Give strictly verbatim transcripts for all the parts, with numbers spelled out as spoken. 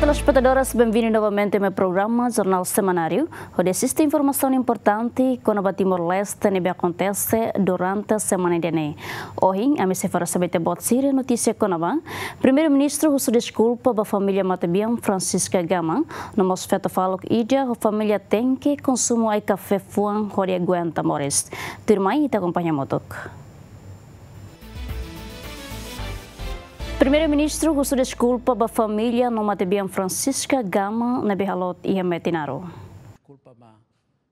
Telespetadores, benvindu novamente mai programa Jornál Semanáriu, hodi asiste informasaun importante kona-ba Timor-Leste ne'ebé akontese durante semana ida-ne'e. Ohin, ami sei fó ba ita-boot sira notísia kona-ba Primeiru-Ministru husu deskulpa ba família matebian Francisca Gama, no mós feto faluk ida ho família tenke konsumu ai-kafé fuan hodi aguenta moris. Tuirmai ita akompaña hamutuk. Primeiru-Ministru husu deskulpa ba família no matebian Francisca Gama ne'ebé haloot iha Metinaro.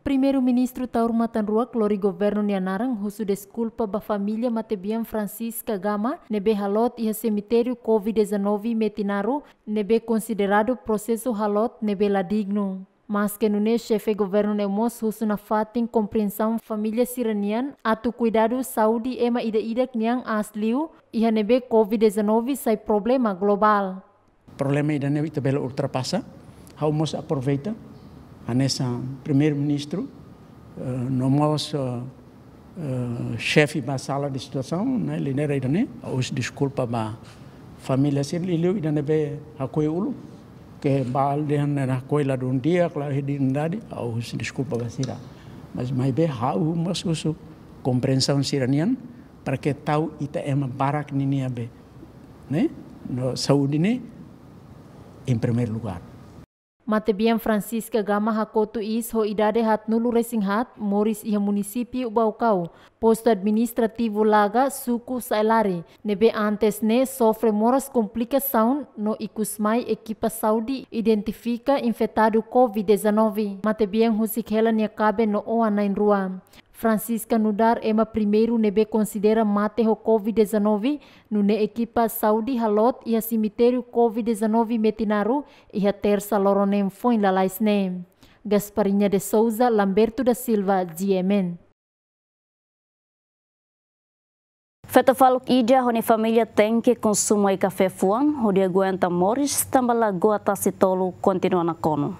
Primeiru-Ministru Taur Matan Ruak lori governu nia naran husu deskulpa ba família matebian Francisca Gama ne'ebé haloot iha semitériu covid dezanove Metinaro, ne'ebé konsideradu prosesu haloot ne'ebé la dignu. Maske nune'e, xefe governu ne'e mós husu nafatin kompriensaun família sira-nian atu kuidadu saúde ema ida-idak nian aas liu, iha ne'ebé covid dezanove sai problema globál. Problema ida-ne'e ita bele ultrapasa. Ha'u mós aproveita hanesan Primeiru-Ministru, eh, no mós, eh, eh, xefe ba sala de situasaun, ne'e, lidera ida-ne'e, ha'u husu deskulpa ba família sira, liuliu ida ne'ebé hakoi uluk, ke ba aldeia ne'e hakoi ladún di'ak, la iha dignidade, ha'u husu deskulpa ba sira. Mas maibé ha'u mós husu kompriensaun sira-nian, para ke tau ita ema barak ninia be, ne'e, no saúde ne'e em primeiro lugar. Matebian Francisca Gama hakotu iis ho idade haatnulu resin haat, moris iha munisípiu Baucau, postu administrativu Laga, suku Saelare, ne'ebé antes ne'e sofre moras komplikasaun no ikusmai ekipa saúde identifika infetadu covid dezanove. Matebian husik hela nia kaben no oan na'in-rua. Francisca nu'udar ema primeiru ne'ebé konsidera mate ho covid dezanove, nune'e ekipa saúde haloot iha semitériu covid dezanove Metinaro, iha Tersa loron neen foin lalais ne'e. Gasparinha de Souza, Lamberto da Silva, G M N. Feto faluk ida ho nia família tenke konsumu ai-kafé fuan hodi aguenta moris tanba lagoa Tasi Tolu kontinua nakonu.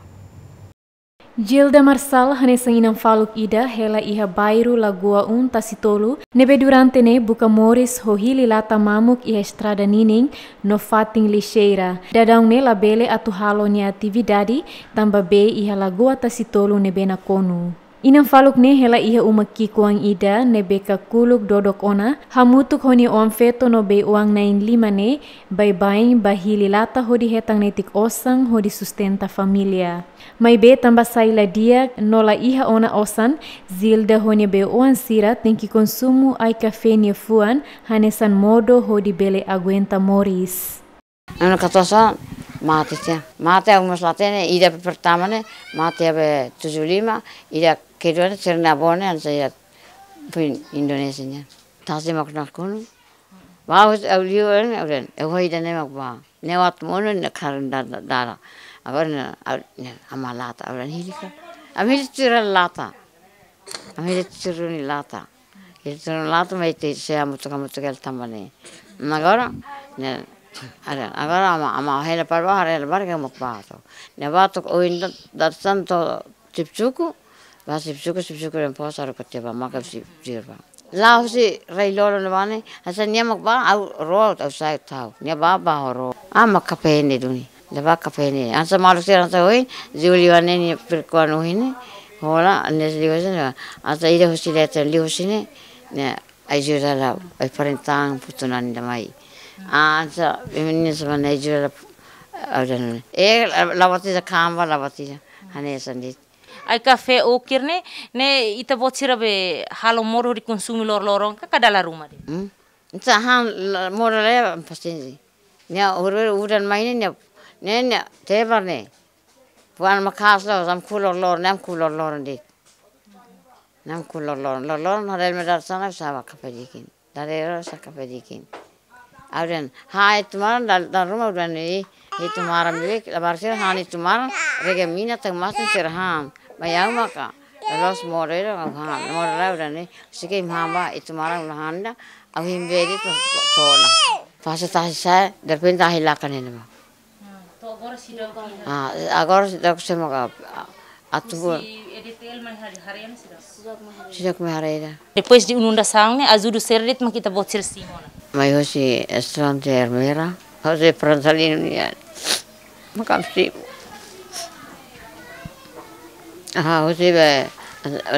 Gilda Marçal hanesan inan faluk ida hela iha bairru Lagoa Um, Tasi Tolu, ne'ebé durante ne'e buka moris ho hili lata mamuk iha estrada ninin no fatin lixeira. Daudaun ne'e labele atu halo nia atividade tanba bee iha lagoa Tasi Tolu ne'ebé nakonu. Inan faluk ne'e hela iha uma ki'ikoan ida ne'ebé kakuluk dodok ona, hamutuk ho nia oan-feto no bei-oan na'in-lima ne'e baibain ba hili lata hodi hetan netik osan hodi sustenta família. Maibé tanba sai la di'ak no la iha ona osan, Gilda ho nia bei-oan sira tenke konsumu ai-kafé nia fuan hanesan modo hodi bele aguenta moris. Anu katosa mate tia. Mate ha'u mós la hatene, ida pertama ne'e mate iha be tujuh lima, ida kedua ne'e sira-nia avó ne'e hanesan iha foin Indonézia nian. Tasi mak nakonu. Ba ha'u liu ne'e, ha'u dehan, eh, ha'u ida-ne'e mak ba. Ne'e atu monu ne'e karin da, da, dala. Agora ne'e, ha'u, ne'e, ama lata, ha'u dehan hili ka. Ami hili tiha lata. Ami hili tiha duni lata. Hili tiha duni lata, mai te se hamutuk, hamutuk hela tanba ne'e. Agora, ne'e, ada, agora ama, ama hela para ba, hela para ke mak ba to. Ne'e ba to, ohin da, da santo, Sipsuku, ba Sipsuku, Sipsuku dehan posa ro kete ba maka si sirba. La'o husi rai lolo ne'ebá ne'e, hanesan nia mak ba, ha'u ró, ha'u sai tau. Nia ba, ba ho ró. Ah, mak kapene duni. Nia ba kapene. Hanesan maluk sira hanesan ohin, Juli wane ni perkuan ohin ne'e. Hola, nia liu husi ne'e. Hanesan ida husi leten, liu husi ne'e. Ne'e, ai jura la, ai parentang putu nani da mai. Ah, hanesan, menina sama nai jura la, au dan. Eh, la, la batiza kamba, la batiza. Hanesan de'it. Ai-kafé ukir ne'e, ne'e ita-boot sira be halo modo hodi konsumu loroloron ka, ka dala ruma de'it? Hmm? Ita han la, modo le pasiensi. Nia huru udan mai ne'e, nia, ne'e, nia tebar ne'e. Puan maka'as la, sam kulor lor, ne'e am kulor lor de'it. Ne'e am kulor lor, lor lor, na rel medar sana, saba kapadikin. Dadeer-sira kapadikin. Au dehan, ha, iha tumaran, dal, dal ruma udan i, iha tumaran milik, labarik sira han iha tumaran, rega mina tau masin sira han. Mai ha'u maka, loos modo ida, au han, modo la udan i, sike mahamba, iha tumaran la han ida, au himbe de'it to, to'o ona. Fase tasi sa'e, derrepente ahi lakan ne'ebá. Ah, agora seidauk iha. Ah, agora seidauk semo ka, ah, atu bo. Husi E D T L mai hari, haree ona seidauk. Seidauk mai haree ona. Depois de inundasaun ne'e, ajuda sira de'it mak ita-boot sira simu ona? Mai husi Estante Ermera, husi Pransalino nian. Makam si. Aha, husi be,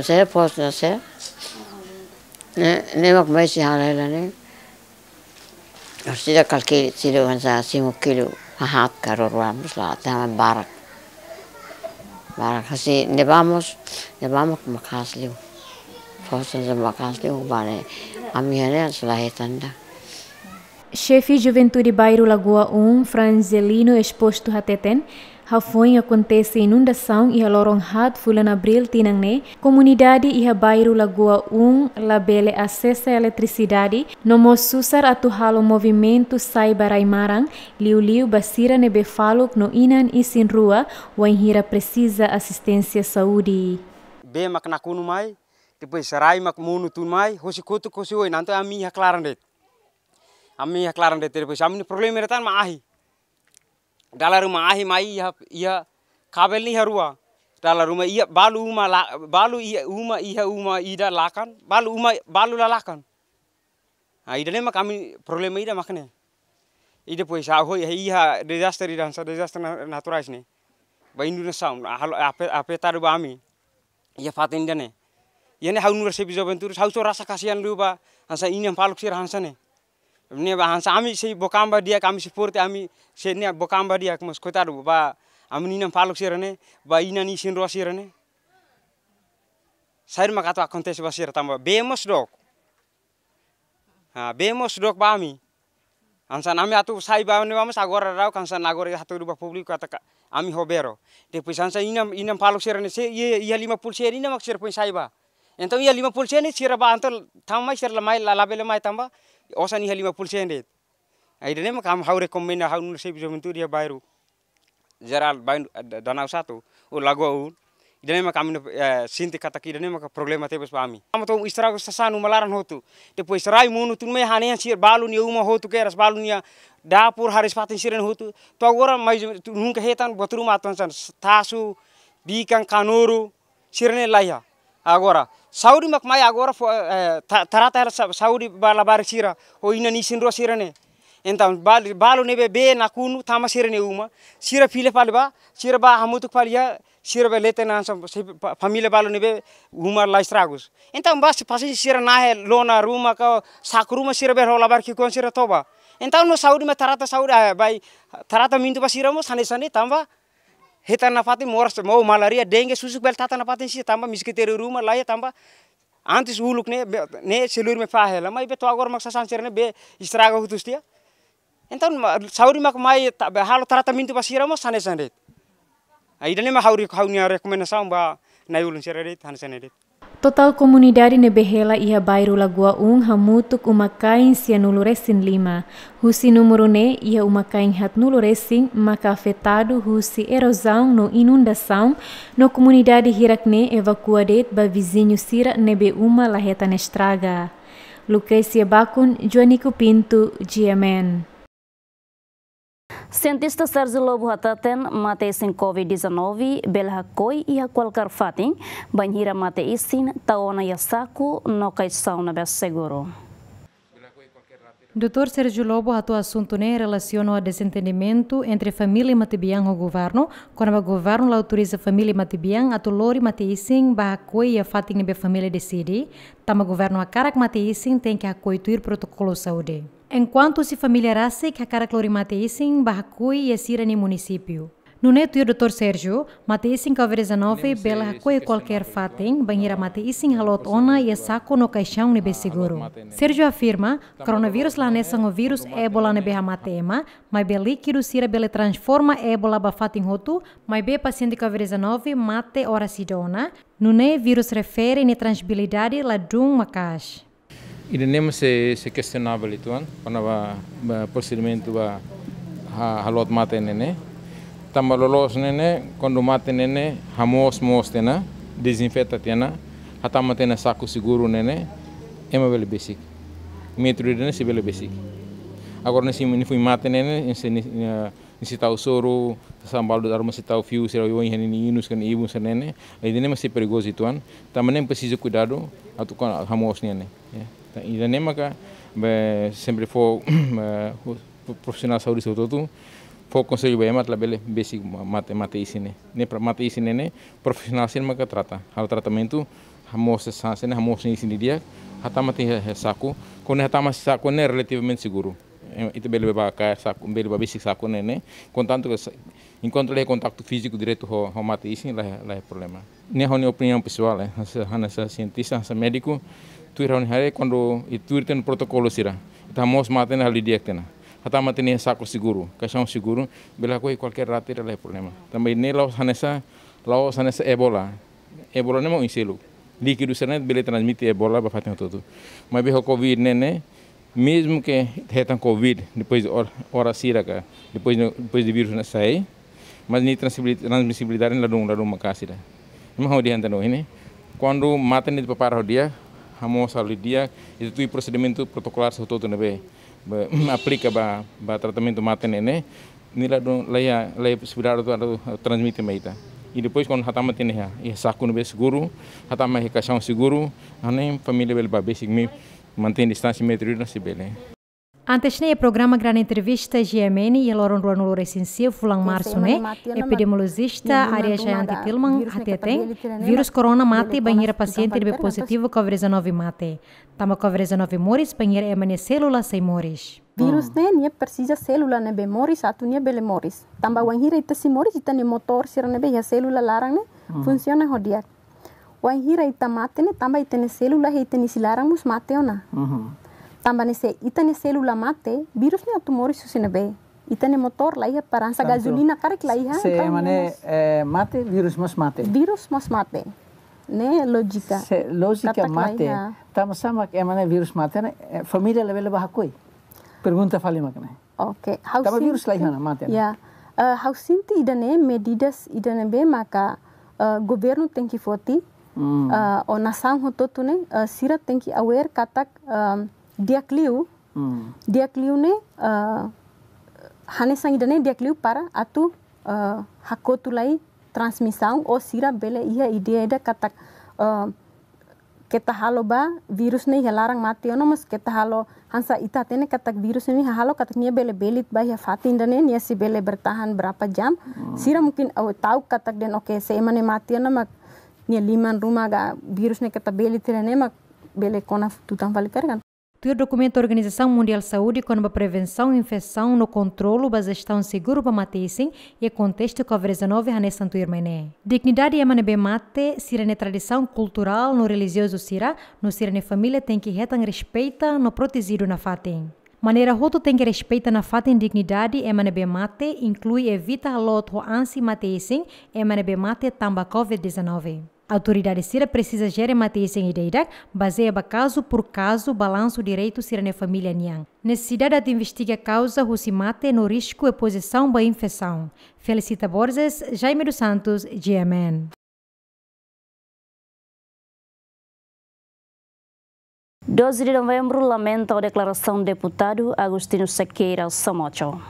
se pos na se. Ne, ne mak mai si hara hela ne. Husi da kalki silu hanesan simu kilu haat ka rua-rua mós la tama barak. Barak husi ne ba mós, ne ba mak maka'as liu. Pos hanesan maka'as liu ba ne'e. Ami hane selahe tanda. Xefe Juventude Bairru Lagoa um, Franzelino Exposto hateten, hafoin akontese inundasaun iha loron haat fulan Abríl tinan ne'e, komunidade iha bairru Lagoa um labele asesa eletrisidade, no mós susar atu halo movimentu sai ba rai-maran, liuliu ba sira ne'ebé faluk no inan isin-rua, wainhira presiza asisténsia saúde. Bee mak nakonu mai, depois rai mak monu tun mai, hosi kotuk hosi oin, entaun ami iha klaran de'it. Ami iha klaran de'it, depois ami-nia problema ida tan mak ahi. Dala ruma ahi mai iha, iha kabel ne'e iha rua. Dala ruma iha balu uma la, balu iha uma, iha uma ida lakan, balu uma, balu la lakan. Ah, ida-ne'e mak ami problema ida mak ne'e. I depois, ah, hoi, iha dezastre ida hanesan dezastre na-, naturais ne'e. Ba inundasaun, ah, halo, afe-, afetadu ba ami. Iha fatin ida-ne'e. Iha ne'e ha'u nu'udar xefe juventude, ha'u só rasa kasihan liu ba hanesan inan faluk sira hanesan ne'e. Ne'e ba hanesan ami sei book an ba di'ak, ami suporte ami sei ne'e book an ba di'ak, mas koitadu ba ami-nia inan faluk sira ne'e, ba inan isin-rua sira ne'e. Saida mak atu akontese ba sira tanba bee mós dook. Ah, bee mós dook ba ami. Hanesan ami atu sai ba ne'ebá mós agora daudaun hanesan agora hatudu ba públiku katak ami ho bee ró. Depois hanesan inan, inan faluk sira ne'e sei, iha, iha lima puluh sen ida mak sira foin sai ba. Entaun iha lima puluh sen ne'e sira ba entaun tama mai sira la mai la, labele mai tanba osan iha lima puluh sen de'it. Ah, ida-ne'e mak ha'u rekomenda ha'u nu'udar xefe juventude iha bairru jerál bain, eh, Danau satu, ou Lagoa um. Ida-ne'e mak ami, eh, sente katak ida-ne'e mak problema tebes ba ami. Ami tau estragu sasán uma laran hotu. Depois rai monu tun mai hanehan sira balu nia uma hotu kedas, balu nia dapur, hariis-fatin sira-ne'e hotu. To'o agora mais nunka hetan buat ruma atu hanesan tasu, bikan, kanuru, sira-ne'e laiha. Agora, saúde mak mai agora fó, eh, ta-, trata hela sa-, saúde ba labarik sira, ho inan isin-rua sira-ne'e. Entaun, bal-, balu ne'ebé bee nakonu tama sira-nia uma, sira fila fali ba, sira ba hamutuk fali iha, sira bele leten hanesan, se fa-, família balu ne'ebé uma la estragus. Entaun, ba se pasiénsia sira nahe lona ruma ka saku ruma sira bele ho labarik ki'ikoan sira toba. Entaun, no saúde mak trata saúde, ah, bai, tratamentu ba sira mós hanesan ne'e tanba hetan nafatin moras, mós malaria, dengue, susuk bele tata nafatin sira tanba miskritériu ruma laiha tanba antes uluk ne'e, be-, ne'e selur mai fahe la, maibé to'o agora mak sasán sira-ne'e bee estraga hotu tiha. Entaun, ma-, saúde mak mai ta-, be halo tratamentu ba sira mós hanesan de'it. Ah, ida-ne'e mak ha'u re-, ha'u-nia rekomendasaun ba na'i-ulun sira de'it, hanesan ne'e de'it. Totál komunidade ne'ebé hela iha bairru Lagoa um hamutuk uma-kain sianulu-resin-lima. Husi númeru ne'e iha uma-kain haatnulu-resin maka afetadu husi erozaun no inundasaun, no komunidade hirak ne'e evakua de'it ba viziñu sira ne'ebé uma la hetan estraga. Lucrecia Bacon, Joanico Pinto, G M N. Sientista Sérgio Lobo hateten, mate-isin covid dezanove bele hakoi iha kualkér fatin, bainhira mate-isin tau ona iha saku no kaixaun ne'ebé seguru. Doutór Sérgio Lobo hato'o asuntu ne'e relasiona ho dezentendimentu entre família matebian ho governu, kona-ba governu la autoriza família matebian atu lori mate-isin ba hakoi iha fatin ne'ebé família deside, tanba governu hakarak mate-isin tenke hakoi tuir protokolu saúde. Enkuantu husi família rasik hakarak lori mate-isin ba hakoi iha sira-nia munisípiu. Nune'e tuir doutór Sérgio, mate-isin covid dezanove bele hakoi iha kualkér fatin, bainhira mate-isin haloot ona iha saku no kaixaun ne'ebé seguru. Sérgio afirma, koronavírus la hanesan ho vírus Ébola ne'ebé hamate ema, maibé líkidu sira bele transforma Ébola ba fatin hotu, maibé pasiente covid dezanove mate oras ida ona, nune'e vírus refere nia transmisibilidade ladún maka'as. Ida-ne'e mós sei, sei kestionável uitoan, kona-ba, ba prosedimentu ba ha-, haloot mate ne'e ne'e. Tanba loloos ne'e ne'e, kuandu mate ne'e ne'e, hamoos moos tiha ona, dezinfeta tiha ona, hatama tiha ona saku seguru ne'e ne'e, ema bele besik. Métodu ida-ne'e sei bele besik. Agora ne'e sei, ne'e foin mate ne'e ne'e, sei, ne'e, ne'e sei tau soru, sasán balu dala ruma sei tau fiu, sira oioin, hanesan inus, kan ibun, sira ne'e ne'e. Ida-ne'e mós sei perigozu uitoan, tanba ne'e presiza kuidadu, atu kona hamoos ne'e ne'e. Ya. Entaun, ida-ne'e maka, be, sempre fó, be, profisionál saúde hotu-hotu, Fó konsellu ba ema atu labele besik mate, mate isin ne'e. Ne'e para mate isin ne'e, ne'e profisionál sira maka trata. Halo tratamentu, hamoos sasán sira ne'e, hamoos isin didi'ak, hatama tiha iha saku. Kuandu hatama saku ne'e relativamente seguru. Eh, ita bele bá kaer saku, bele bá besik saku ne'e, ne'e. Kontantu ke sa-, enkuantu la iha kontaktu fíziku diretu ho, ho mate isin, la, la iha problema. Ne'e ha'u-nia opiniaun pesoál, eh. Hanesan, hanesan sientista, hanesan médiku, tuir ha'u-nia haree kuandu ita tuir tiha ona protokolu sira. Ita hamoos mate ne'e halo didi'ak tiha ona. Hatama tiha iha saku seguru, kaixaun seguru, bele hakoi kualkér rate la iha problema. Tanba ne'e la'ós hanesan, la'ós hanesan Ebola. Ebola ne'e mak oin seluk. Líkidu sira-ne'e bele transmite Ebola ba fatin hotu-hotu. Maibé ho Covid ne'e, ne'e, mezmu ke hetan Covid, depois de or-, oras sira ka, depois de, depois de vírus ne'e sai, mas nia transmisibil-, transmisibilidade ladún, ladún maka'as ida. Ema hodi hanta no ini, kuandu mate ne'e prepara ho di'ak, hamoos halo di'ak, ita tuir prosedimentu protokolár hotu-hotu ne'ebé, ba, aplika ba, ba tratamentu mate ne'e, ne'e, nia ladún, la iha, la iha posibilidade atu, atu transmite mai ita. I depois kuandu hatama tiha ona iha, iha saku ne'ebé seguru, hatama iha kaixaun seguru, ne'e família bele bá besik mai, mantein distánsia metru ida se bele. Antes ne'e, programa Grande Entrevista G M N iha loron ruanulu-resin-sia fulan Marsu ne'e, epidemiolojista área Jayanti Tilman hateten, vírus corona mate bainhira pasiente ne'ebé pozitivu Covid dezanove mate. Tanba Covid dezanove moris bainhira ema nia sélula sei moris. Vírus ne'e, nia presiza sélula ne'ebé moris atu nia bele moris. Tanba wainhira ita sei moris, ita-nia motór sira ne'ebé iha sélula laran ne'e funsiona ho di'ak. Wainhira ita mate ne'e, tanba ita-nia sélula iha ita-nia isin laran mós mate ona. Tanba ne'e se ita-nia sélula mate, vírus ne'e atu moris husi ne'ebé? Ita-nia motór la iha para hanesan gazolina karik la iha, se entaun ema ne'e, eh, mate, vírus mós mate. Vírus mós mate. Ne'e lójika. Se lójika katak la mate, iha. Tanba sá mak ema ne'e vírus mate ne'e, eh, família labele bá hakoi? Pergunta fali mak ne'e. Oke, ha'u sente. Tanba vírus la iha ona, mate ona. Ya. Eh, ha'u sente ida-ne'e medidas ida ne'ebé maka, eh, governu tenke foti, eh, ou nasaun hotu-hotu ne'e, eh, sira tenke aware katak, eh, di'ak liu, di'ak liu ne'e, eh, hanesan ida-ne'e di'ak liu para atu, eh, hakotu lai transmisaun ou sira bele iha ideia ida katak, eh, keta halo ba vírus ne'e iha laran mate ona, mas keta halo hanesan ita hatene katak vírus ne'e halo katak nia bele belit ba iha fatin ida-ne'e, nia sei bele bertahan berapa jam. Sira mungkin ta'uk katak dehan, oke, se ema ne'e mate ona mak nia liman ruma ka vírus ne'e keta belit tiha ne'e mak bele kona tutan fali karik. Tuir dokumentu Organizasaun Mundiál Saúde kona-ba prevensaun infesaun no kontrolu ba jestaun seguru ba mate isin iha kontestu Covid dezanove hanesan tuirmai ne'e. Dignidade ema ne'ebé mate, sira-nia tradisaun kulturál no relijiozu sira, no sira-nia família tenke hetan respeita no protejidu nafatin. Maneira hotu tenke respeita nafatin dignidade ema ne'ebé mate, inklui evita haloot ho ansi mate isin ema ne'ebé mate tanba Covid dezanove. Autoridade sira presiza jere mate isin ida-idak, bazeia ba kazu por kazu, balansu direitu sira-nia família nian. Nesesidade atu investiga kauza husi mate no risku espozisaun ba infesaun. Felicita Borges, Jaime dos Santos, G M N. Doze de Novembro lamenta ho deklarasaun deputadu Agostinho Sequeira Somocho.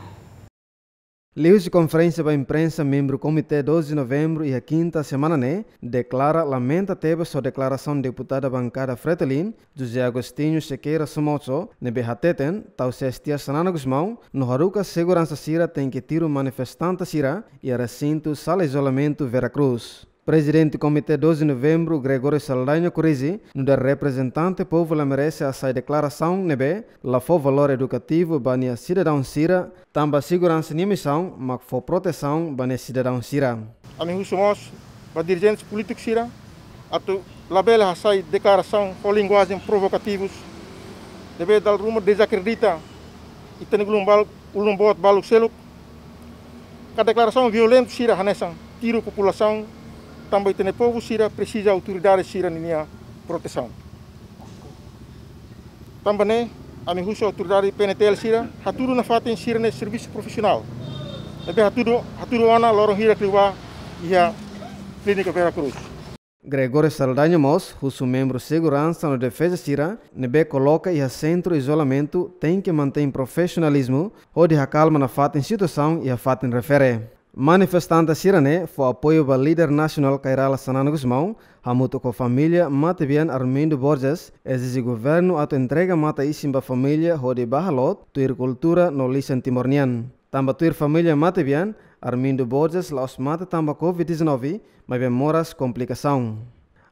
Liuhusi konferénsia ba imprensa, membru Komité doze de Novembro iha kinta semana ne'e deklara lamenta tebes ho deklarasaun deputada bankada Fretilin, José Agostinho Sequeira Somocho, ne'ebé hateten tau sees tiha Xanana Gusmão no haruka seguransa sira tenke tiru manifestante sira iha resintu sala izolamentu Vera Cruz. Prezidente Komité doze de Novembro, Gregório Saldanha Corizi, nu'udar reprezentante povu la merese hasai deklarasaun ne'ebé la fó valór edukativu ba nia sidadaun sira, tanba seguransa nia misaun mak fó protesaun ba nia sidadaun sira. Ami husu mós ba dirijente polítiku sira atu labele hasai deklarasaun ho linguajen provokativus ne'ebé dala ruma dezakredita ita-nia ulun balu-, ulun boot balu seluk, ka deklarasaun violentu sira hanesan tiru populasaun, tanba ita-nia povu sira presiza autoridade sira-ninia protesaun. Tanba ne'e, ami husu autoridade P N T L sira hatudu nafatin sira-nia servisu profisionál ne'ebé hatudu, hatudu ona loron hirak liubá iha Klínika Vera Cruz. Gregório Saldanha mós husu membru seguransa no defeza sira ne'ebé koloka iha sentru izolamentu tenke mantein profisionalizmu hodi hakalma nafatin situasaun iha fatin refere. Manifestante sira-ne'e fó apoiu ba líder nasionál Kay Rala Xanana Gusmão, hamutuk ho família matebian Armindo Borges, ezije governu atu entrega mate isin ba família hodi bá haloot tuir kultura no lisan Timor nian. Tanba tuir família matebian, Armindo Borges la'ós mate tanba covid dezanove, maibé moras komplikasaun.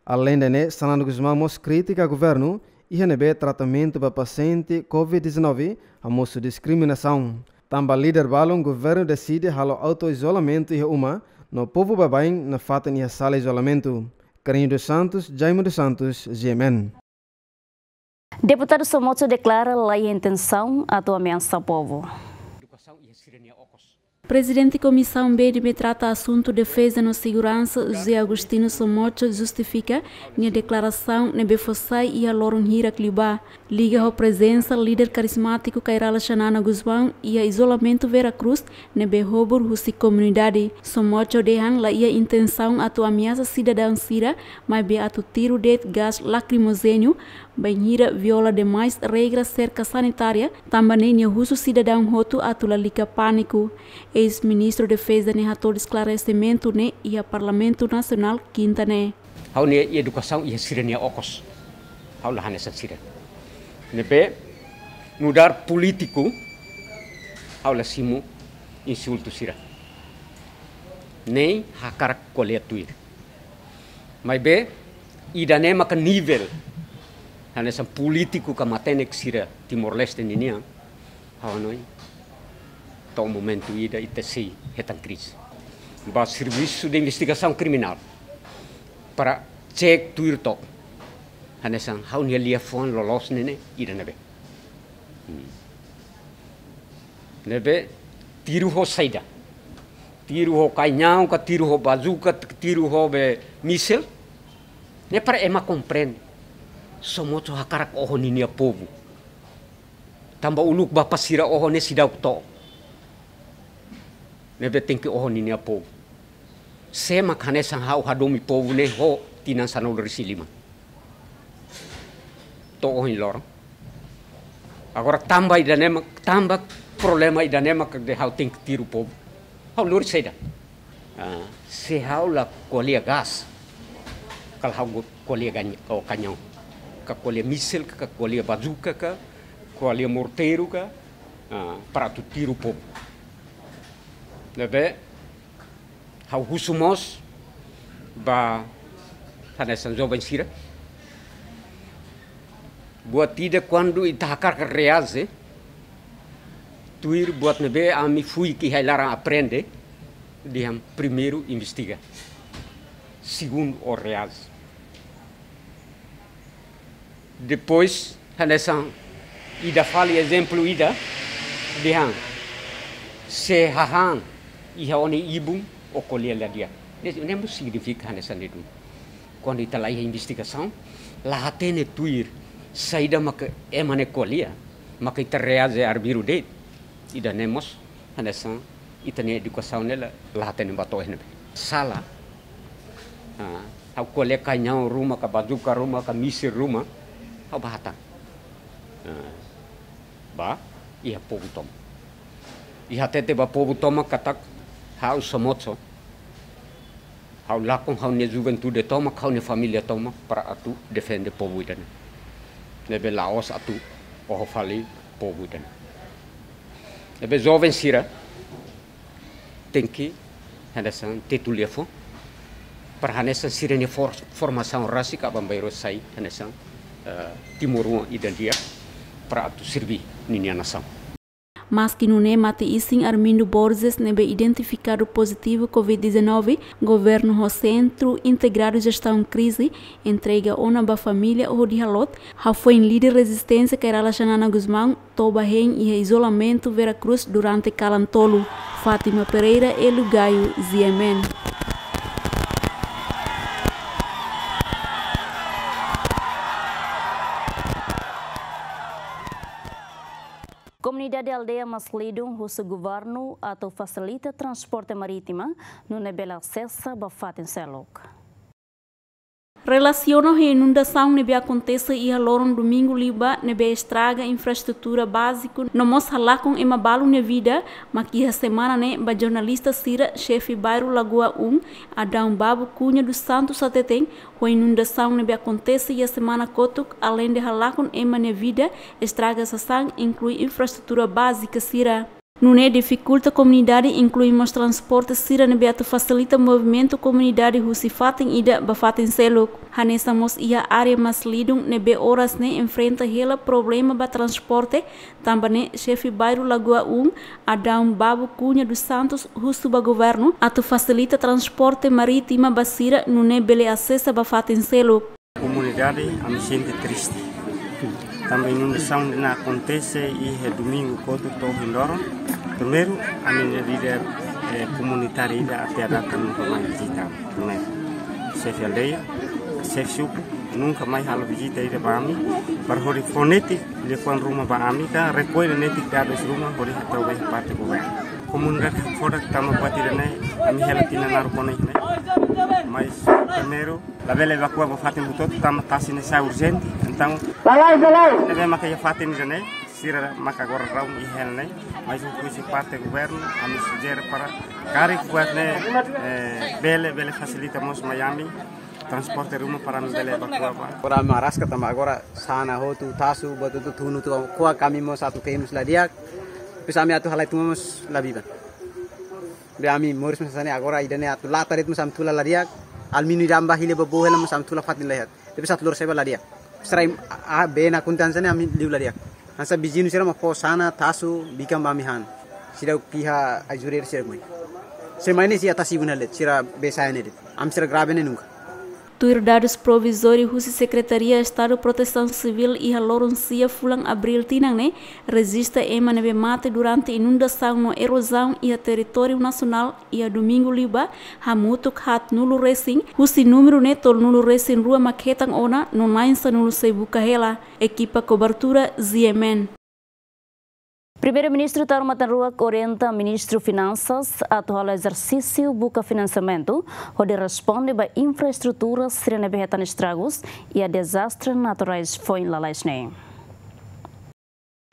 Aleinde ne'e, Xanana Gusmão mós kritika governu, iha ne'ebé tratamentu ba pasiente covid dezanove hamosu diskriminasaun. Tanba líder balun, governu deside halo auto-izolamentu iha uma, no povu baibain nafatin iha sala izolamentu. Carlinho dos Santos, Jaime dos Santos, G M N. Deputadu Somocho deklara la iha intensaun atu ameasa povu. Prezidente Komisaun B ne'ebé trata asuntu defeza no seguransa, José Agostinho Somocho, justifika nia deklarasaun ne'ebé fó sai iha loron hirak liubá, liga ho prezensa líder karizmátiku Kay Rala Xanana Gusmão iha izolamentu Vera Cruz ne'ebé hobur husi komunidade. Somocho dehan la iha intensaun atu ameasa sidadaun sira, maibé atu tiru de'it gás lakrimojéneu, bainhira viola demais regra serka sanitária, tanba ne'e nia husu sidadaun hotu atu lalika pániku. Eis-Ministru Defeza ne'e hato'o esklaresimentu ne'e iha Parlamentu Nasionál kinta ne'e. Ha'u-nia edukasaun iha sira-nia okos. Ha'u la hanesan sira. Ne'ebé nu'udar polítiku, ha'u la simu insultu sira. Nein hakarak ko'alia tuir. Maibé, ida-ne'e maka nivel hanesan polítiku ka matenek sira Timor-Leste ninian, ha'u hanoin, to'o momentu ida ita sei hetan krize. Ba servisu de investigasaun kriminál para cek tuir to'ok hanesan ha'u-nia liafuan loloos ne'e ne'e ida ne'ebé. Hmm. Ne'ebé tiru ho saida? Tiru ho kañaun ka, tiru ho bazuka, tiru ho be mísil? Ne'e para ema komprende. Somocho hakarak oho ninia povu. Tanba uluk bapa sira oho ne'e seidauk to'o. Ne'ebé tenke oho ninia povu. Sé mak hanesan ha'u hadomi povu ne'e ho tinan sanulu-resin-lima to'o ohin loron. Agora tanba ida-ne'e mak, tanba problema ida-ne'e mak dehan ha'u tenke tiru povu. Ha'u lori saida? Ah, se ha'u la ko'alia gás, kala ha'u go-, ko'alia gañ-, o kañaun, ka ko'alia mísil, ka ko'alia bazuka, ka ko'alia morteiru, ka, ah, para atu tiru povu. Ne'ebé, ha'u husu mós ba hanesan joven sira. Buat ida kuandu ita hakarak reaje, tuir buat ne'ebé ami fuik iha ai-laran aprende, dehan primeiru investiga, segundu ó reaje. Depois, hanesan ida fali ezemplu ida, dehan, se hahán iha ó-nia ibun, ó ko'alia la di'ak. Ne'e, ne'e mós signifika hanesan ne'e duni. Kuandu ita la iha investigasaun, la hatene tuir saida maka ema ne'e ko'alia, maka ita reaje arbiru de'it. Ida-ne'e mós hanesan ita-nia edukasaun ne'e la, la hatene ba to'o iha ne'ebé. Sala. Ah, ha'u ko'alia kañaun ruma, ka bazuka ruma, ka mísil ruma, ha'u bá hatán. Ah, bá iha povu tomak. I hatete ba povu tomak katak ha'u Somocho, ha'u lakon ha'u-nia juventude tomak, ha'u-nia família tomak para atu defende povu ida-ne'e. Ne'ebé la'ós atu oho fali povu ida-ne'e. Ne'ebé joven sira tenke hanesan tetu liafuan, para hanesan sira-nia for-, formasaun rasik aban-bainrua sai hanesan, eh, timoroan ida di'ak para atu serbí ninia nasaun. Maski nune'e, mate-isin Armindo Borges ne'ebé identifikadu pozitivu covid dezanove, governu ho Sentru Integradu Jestaun Krize entrega ona ba família hodi halot, hafoin líder rezisténsia Kay Rala Xanana Gusmão toba hein iha izolamentu Vera Cruz durante kalan tolu. Fátima Pereira, Hélio Gaio, G M N. Komunidade aldeia Maslidung husu governu atu fasilita transporte marítima, nune'e bele asesa ba fatin seluk. Relasiona ho inundasaun ne'ebé akontese iha loron domingu liubá, ne'ebé estraga infraestrutura báziku no mós halakon ema balu nia vida, mak iha semana ne'e ba jornalista sira, xefe bairru Lagoa um, Adão Babu Cunha dos Santos, hateten, ho inundasaun ne'ebé akontese iha semana kotuk, aleinde halakon ema nia vida, estraga sasán, inklui infraestrutura bázika sira. Nune'e difikulta komunidade, inklui mós transporte sira ne'ebé atu fasilita movimentu komunidade husi fatin ida ba fatin seluk. Hanesan mós iha área Maslidung ne'ebé oras ne'e enfrenta hela problema ba transporte, tanba ne'e xefe bairru Lagoa um, Adão Babu Cunha dos Santos, husu ba governu atu fasilita transporte marítima ba sira nune'e bele asesa ba fatin seluk. Komunidade, ami sente triste. Tanba inundasaun ne'e akontese iha domingu kotuk to'o ohin loron. Primeiru, ami-nia líder, eh, komunitáriu ida até à data nunka mai vizita. Primeiru, xefe aldeia, xefe suku, nunka mai halo vizita ida ba ami. Para hodi fó netik liafuan ruma ba ami ka rekolla netik dadus ruma hodi hatau ba parte governu. Komunidade hakfodak tanba buat ida-ne'e, ami hela tinan naruk ona ne'e. Mas primeiru, labele evakua ba fatin hotu-hotu tanba tasi ne'e sai urjente. Entaun, lalais, lalais, ne'ebé maka iha fatin ida-ne'e, sira maka agora raun iha hela ne'e. Mas husi parte governu, ami sujere para karik buat ne'e, eh, bele, bele fasilita mós mai ami transporte ruma para ami bele evakua ba. Agora ami araska tanba agora sana hotu, tasu, buat hotu tunu, tua ko'a ami mós atu ke'e mós la di'ak. Depois ami atu halai tun mós la biban. Be ami moris mós hanesan ne'e, agora ida-ne'e atu lata de'it mós ami tula la di'ak. Alumíniu ida ami bá hili ba boot hela mós ami tula fatin la iha. Depois atu lori sai ba la di'ak. Sira, a, a, bee ne'e akontese hanesan ne'e ami liu la di'ak. Hanesan viziñu sira mós fó sana, tasu, bikan ba ami han. Sira kiha ajuda sira mai. Sira mai ne'e sira tasi bun hela de'it, sira bee sai ne'e de'it. Ami sira grave ne'e nunka. Tuir dadus provizóriu husi Sekretaria Estadu Protesaun Sivíl iha loron sia fulan Abríl tinan ne'e, rejista ema ne'ebé mate durante inundasaun no erozaun iha territóriu nasionál iha domingu liubá, hamutuk haatnulu resin, husi númeru ne'e tolunulu resin rua mak hetan ona no na'in sanulu sei buka hela. Ekipa kobertura Z M N. Primeiru-Ministru Taur Matan Ruak orienta Ministru Finansas atu halo ezersísiu buka finansiamentu hodi responde ba infraestrutura sira ne'ebé hetan estragus iha dezastre naturais foin lalais ne'e.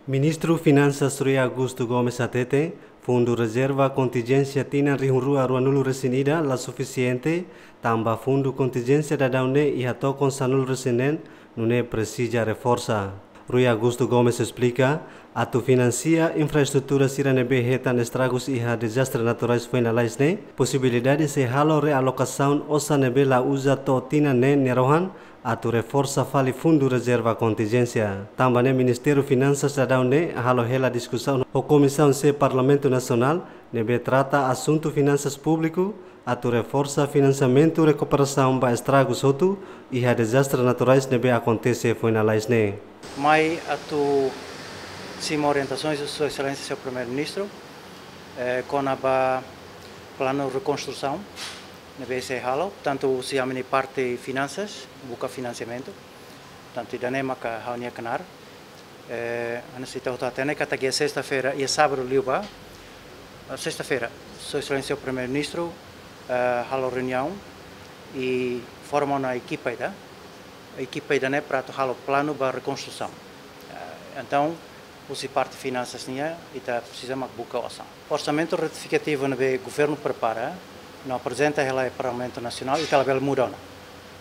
Ministru Finansas Rui Augusto Gomes hateten, fundu rezerva kontinjénsia tinan rihun rua ruanulu resin ida la sufisiente, tanba fundu kontinjénsia daudaun ne'e iha tokon sanulu resin neen, nune'e presiza reforsa. Rui Augusto Gomes esplika, atu finansia infraestrutura sira ne'ebé hetan estragus iha dezastre naturais foin lalais ne'e, posibilidade sei halo realokasaun osan ne'ebé la uza to'o tinan ne'e nia rohan, atu reforsa fali fundu rezerva kontinjénsia. Tanba ne'e Ministériu Finansas daudaun ne'e halo hela diskusaun ho Komisaun C Parlamentu Nasionál, ne'ebé trata asuntu finansas públiku, atu reforsa finansiamentu rekuperasaun ba estragus hotu iha dezastre naturais ne'ebé akontese foin lalais ne'e. Mai atu simu orientasoens de Sua Exelénsia Señór Primeiru-Ministru, eh, kona-ba planu rekonstrusaun ne'ebé sei halo, tantu husi ami-nia parte finansas, buka finansiamentu, tantu ida-ne'e maka ha'u-nia knaar. Eh, hanesan ita hotu hatene katak iha sesta-feira, iha sábadu liubá, eh, sesta-feira, Sua Exelénsia Primeiru-Ministru, eh, halo reuniaun i forma ona ekipa ida. Ekipa ida-ne'e para atu halo planu ba rekonstrusaun. Eh, entaun, husi parte finansas nian, ita presiza mak buka osan. Orsamentu retifikativu ne'ebé governu prepara, no aprezenta hela iha Parlamentu Nasionál, ita labele muda ona.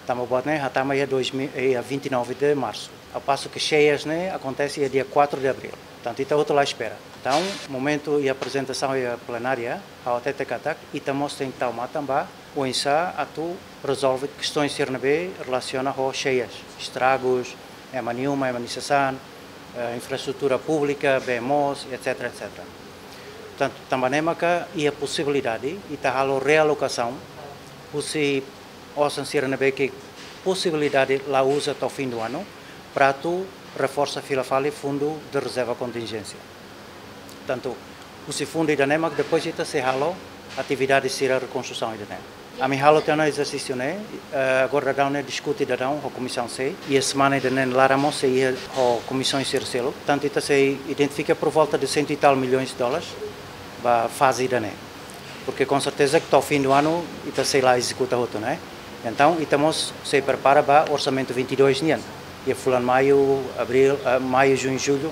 Tanba buat ne'e hatama iha dois mil, iha vinte e nove de março. Ao passo que xeias ne'e akontese iha dia quatro de abril. Portantu, ita hotu la espera. Entaun, momentu iha aprezentasaun iha plenária, ha'u hatete katak, ita mós tenke tau matan ba oinsá atu rezolve kestoens sira ne'ebé relasiona ho xeias, estragus, ema nia uma, ema nia sasán, eh, infraestrutura públika, bee moos, et cetera, et cetera. Portantu, tanba ne'e maka iha posibilidade ita halo realokasaun husi osan sira ne'ebé ke posibilidade la uza to'o fim do ano, para atu reforsa fila fali fundu de rezerva kontinjénsia. Portantu, husi fundu ida-ne'e mak depois ita sei halo atividade sira rekonstrusaun ida-ne'e. Ami halo tiha ona ezersísiu ne'e, eh, agora daudaun ne'e diskute daudaun ho Komisaun C, iha semana ida-ne'e nia laran mós sei iha ho komisaun sira seluk. Portantu, ita sei identifika por volta de cento e tal milhões de dólares ba faze ida-ne'e. Porque com certeza que to'o fim do ano ita sei la ezekuta hotu, né? Entaun, ita mós sei prepara ba orsamentu vinte e dois nian. Iha fulan maiu, abril, eh, maiu, juñu, jullu,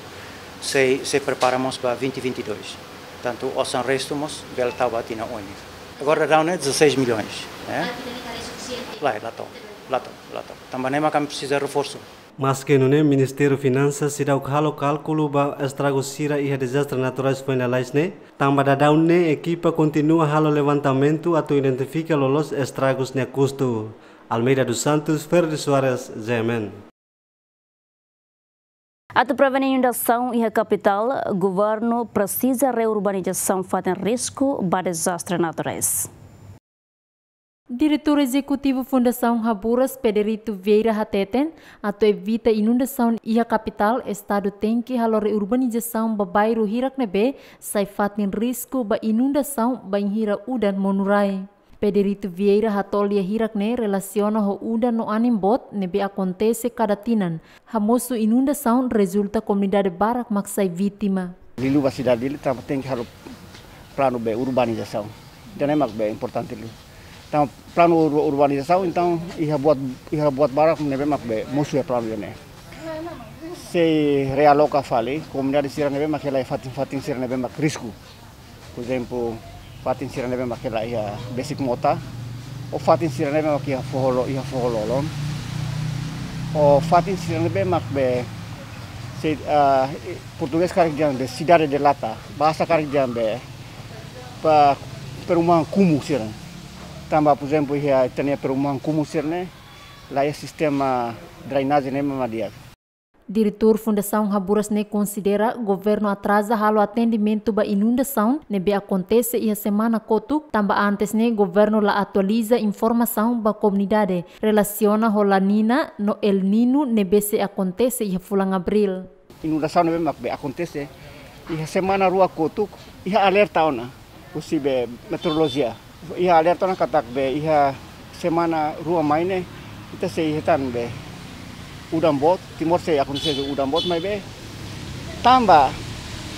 sei, sei prepara mós ba vinte vinte e dois. Portantu, osan restu mós bele tau ba tinan oin. Agora daudaun ne'e dezasseis milhões, né? Lae, la to'o, la to'o, la to'o. Tanba ne'e maka ami presiza reforsu. Maske nune'e, Ministériu Finansas seidauk halo kálkulu ba estragu sira iha dezastre naturais foin lalais ne'e, tanba daudaun ne'e ekipa kontinua halo levantamentu atu identifika loloos estragus nia kustu. Almeida dos Santos, Ferdi Soares, G M N. Atu prevene inundasaun iha kapitál, governu presiza reurbanizasaun fatin risku ba dezastre naturais. Diretór Ezekutivu Fundasaun Haburas, Pedrito Vieira hateten, atu evita inundasaun iha kapitál, Estadu tenke halo reurbanizasaun ba bairru hirak ne'ebé sai fatin risku ba inundasaun bainhira udan monu rai. Pedrito Vieira hato'o lia hirak ne'e relasiona ho udan no anin boot ne'ebé akontese kada tinan, hamosu inundasaun, rezulta komunidade barak mak sai vítima. Liuliu ba sidade Dili, tanba tenke halo planu ba urbanizasaun. Ida-ne'e mak importante liu. Tanba planu ur-, urbanizasaun, entaun iha buat, iha buat barak ne'ebé mak mosu iha planu ne'e. Sei realoka fali komunidade sira ne'ebé mak hela iha fatin-fatin sira ne'ebé mak risku. Por ezemplu, fatin sira ne'ebé mak hela iha besik mota, ou fatin sira ne'ebé mak iha foho lo-, iha foho lolon, ou fatin sira ne'ebé mak be, se, ah, portugés karik dehan be cidade de lata, bahasa karik dehan be, ba perumahan kumuh sira. Tanba, por ezemplu, iha ita-nia perumahan kumuh sira-ne'e, la iha sistema drenajen ne'ebé mak di'ak. Diretór Fundasaun Haburas ne'e konsidera governu atraza halo atendimentu ba inundasaun ne'ebé akontese iha semana kotuk, tanba antes ne'e governu la atualiza informasaun ba komunidade relasiona ho La Niña no El Niño ne'ebé sei akontese iha fulan Abríl. Inundasaun ne'ebé mak be akontese iha semana rua kotuk, iha alerta ona husi be meteorolojia. Iha alerta ona katak be iha semana rua mai ne'e, ita sei hetan be udan boot, Timor sei akontese udan boot, maibé tanba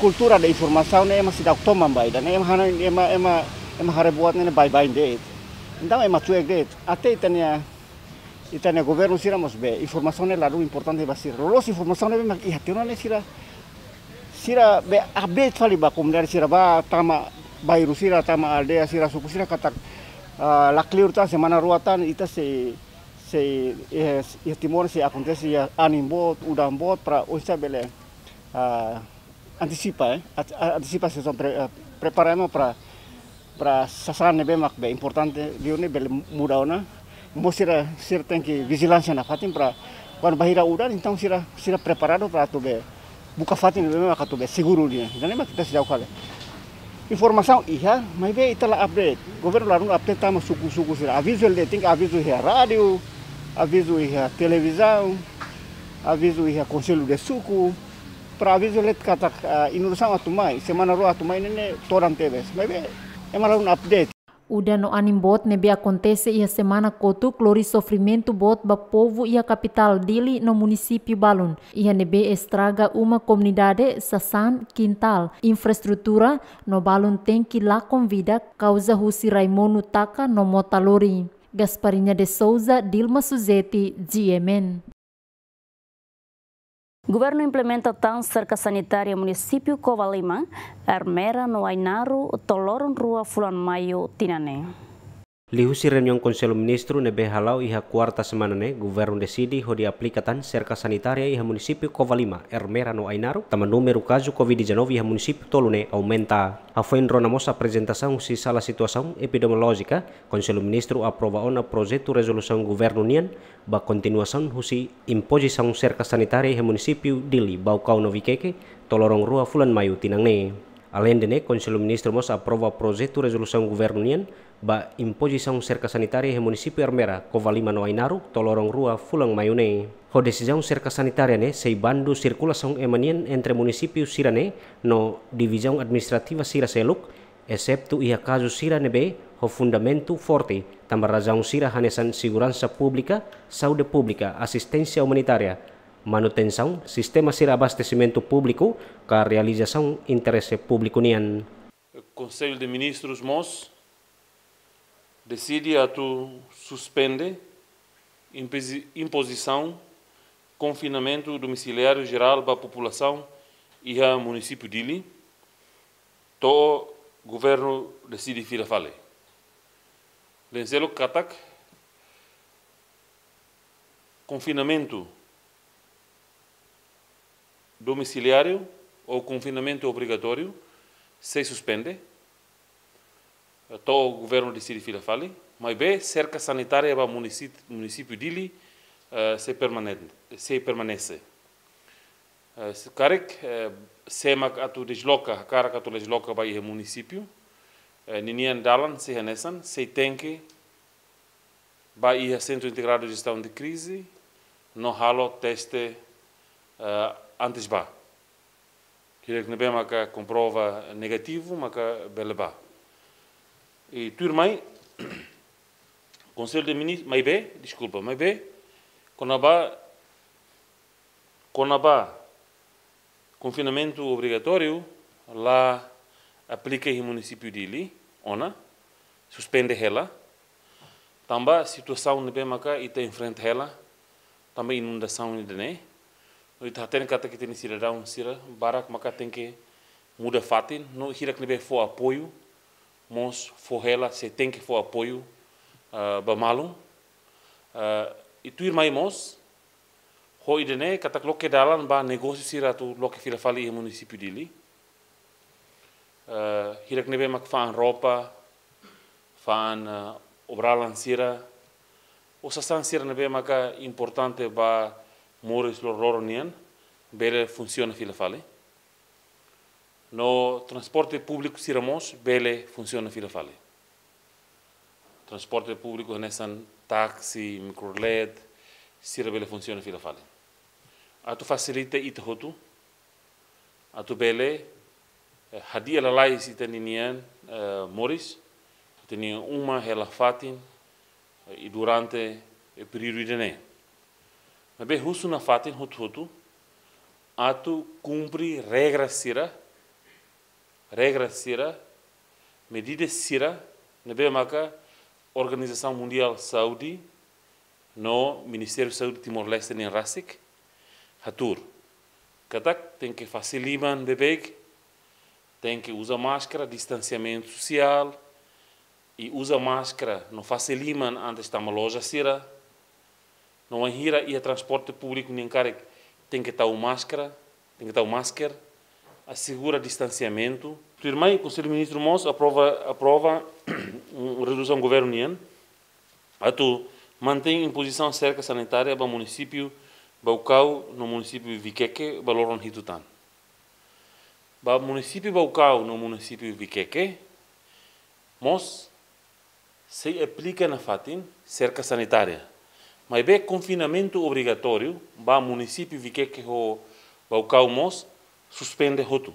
kultura de informasaun ne'e ema seidauk toman ba ida-ne'e, ema hana, ema, ema, ema haree buat ne'e baibain de'it. Entaun ema cuek de'it. Até ita-nia, ita-nia governu sira mós be informasaun ne'e ladún importante ba sira. Loloos informasaun ne'ebé mak iha tiha ona ne'e sira, sira be update fali ba komunidade sira, ba tama bairru sira, tama aldeia sira, suku sira katak, ah, la kleur tan, semana rua tan ita sei, sei, eh, iha Timor sei akontese iha anin boot, udan boot, para oinsá bele, ah, antisipa, eh, at-, a-, antisipa situasaun, pre-, eh, prepara ema para, para sasán ne'ebé mak be importante liu ne'e bele muda ona. Mós sira, sira tenke vijilánsia nafatin para kuandu bainhira udan, entaun sira, sira preparadu para atu be buka fatin ne'ebé mak atu be seguru nian. Ida-ne'e mak ita seidauk halo. Informasaun iha, maibé ita la update. Governu ladún update tama suku-suku sira. Avizu hela de'it, tenke avizu iha rádiu, avizu iha televizaun, avizu iha konsellu de suku. Para avizu hela de'it katak, ah, inundasaun atu mai, semana rua atu mai ne'e, ne'e todan tebes. Maibé ema ladún update. Udan no anin boot ne'ebé akontese iha semana kotuk lori sofrimentu boot ba povu iha kapitál Dili no munisípiu balun. Iha ne'ebé estraga uma komunidade, sasán, kintál, infraestrutura, no balun tenke lakon vida, kauza husi rai monu taka no mota lori. Gasparinha de Souza, Dilma Suzeti, G M N. Governu implementa tan serka sanitária munisípiu Covalima, Ermera no Ainaro, to'o loron rua fulan Maiu tinan ne'e. Liuhusi reuniaun Konsellu Ministru ne'ebé hala'o iha kuarta semana ne'e, governu deside hodi aplika tan serka sanitária iha munisípiu Covalima, Ermera no Ainaro, tanba númeru kazu covid dezanove iha munisípiu tolu ne'e aumenta. Hafoin rona mós aprezentasaun husi sala situasaun epidemiolójika, Konsellu Ministru aprova ona projetu rezolusaun governu nian ba kontinuasaun husi impozisaun serka sanitária iha munisípiu Dili, Baucau no Viqueque, to'o loron rua fulan Maiu tinan ne'e. Aleinde ne'e, Konsellu Ministru mós aprova projetu rezolusaun governu nian ba impozisaun serka sanitária iha munisípiu Ermera, Covalima no Ainaro, to'o loron rua fulan Maiu ne'e. Ho desizaun serka sanitária ne'e sei bandu sirkulasaun ema nian entre munisípiu sira-ne'e no divizaun administrativa sira seluk, eseptu iha kazu sira ne'ebé ho fundamentu forte, tanba razaun sira hanesan seguransa públika, saúde públika, asisténsia umanitária, manutensaun sistema sira abastesimentu públiku, ka realizasaun interese públiku nian. Konsellu de Ministrus mós deside atu suspende impozi-, impozisaun konfinamentu domisiliáriu jerál ba populasaun iha munisípiu Dili, to'o governu deside fila fali. Lenselo katak konfinamentu Domiciliáriu ou konfinamentu obrigatóriu sei suspende, to'o governu deside fila fali, maibé serka sanitária ba munisít-, munisípiu Dili, eh, sei permanen-, sei permanese. Eh, se karik, eh, sé mak atu desloka, hakarak atu desloka ba iha munisípiu, eh, ninian dalan sei hanesan, sei tenke ba iha Sentru Integradu Jestaun de Krize, no halo teste, eh, antes ba. Hirak ne'ebé maka komprova negativu, maka bele ba. I tuirmai, Konsellu de Minis-, maibé, deskulpa, maibé, kona-ba, kona-ba konfinamentu obrigatóriu la aplika iha munisípiu Dili, ona, suspende hela, tanba situasaun ne'ebé maka ita enfrenta hela, tanba inundasaun ida-ne'e. No ita hatene katak ita-nia sidadaun sira barak maka tenke muda fatin, no hirak ne'ebé fó apoiu, mós fó hela, sei tenke fó apoiu, ah, ba malu. Ah, i tuirmai mós, ho ida-ne'e katak loke dalan ba negósiu sira atu loke fila fali iha munisípiu Dili. Eh, hirak ne'ebé mak fa'an roupa, fa'an, eh, obralan sira, ou sasán sira ne'ebé maka importante ba moris loroloron nian, bele funsiona fila fali. No transporte públiku sira mós bele funsiona fila fali. Transporte públiku hanesan táksi, mikrolet, sira bele funsiona fila fali. Atu fasilita ita hotu, atu bele, eh, hadi'a lalais ita-nian, eh, moris, ita-nia uma hela fatin, eh, i durante, eh, períodu ida-ne'e. Maibé husu nafatin hotu-hotu, atu kumpre regra sira, regra sira, medida sira, ne'ebé maka Organizasaun Mundiál Saúde, no Ministériu Saúde Timor-Leste nian rasik, hatuur. Katak tenke fase liman beibeik, tenke uza máskara, distansiamentu sosiál, i uza máskara no fase liman antes tama loja sira. No wainhira iha transporte públiku nian karik tenke tau máskara, tenke tau masker, asegura distansiamentu. Tuirmai, Konsellu Ministru mós aprova, aprova, um, rezolusaun governu nian, atu mantein impozisaun serka sanitária ba munisípiu Baucau no munisípiu Viqueque ba loron hitu tan. Ba munisípiu Baucau no munisípiu Viqueque, mós sei aplika nafatin serka sanitária. Maibé konfinamentu obrigatóriu ba munisípiu Viqueque ho Baucau mós suspende hotu.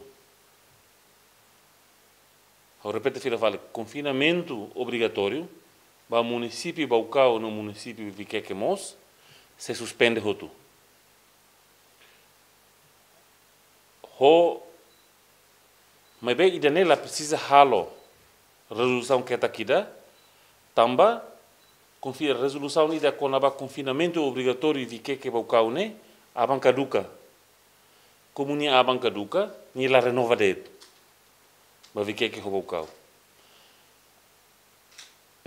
Ha'u repete fila fali, konfinamentu obrigatóriu ba munisípiu Baucau no munisípiu Viqueque mós sei suspende hotu. Ho, maibé ida-ne'e la presiza halo rezolusaun ketak ida, tanba konfi-, rezolusaun ida kona-ba konfinamentu obrigatóriu Viqueque Baucau ne'e aban kaduka. Komu nia aban kaduka, nia la renova de'it ba Viqueque ho Baucau.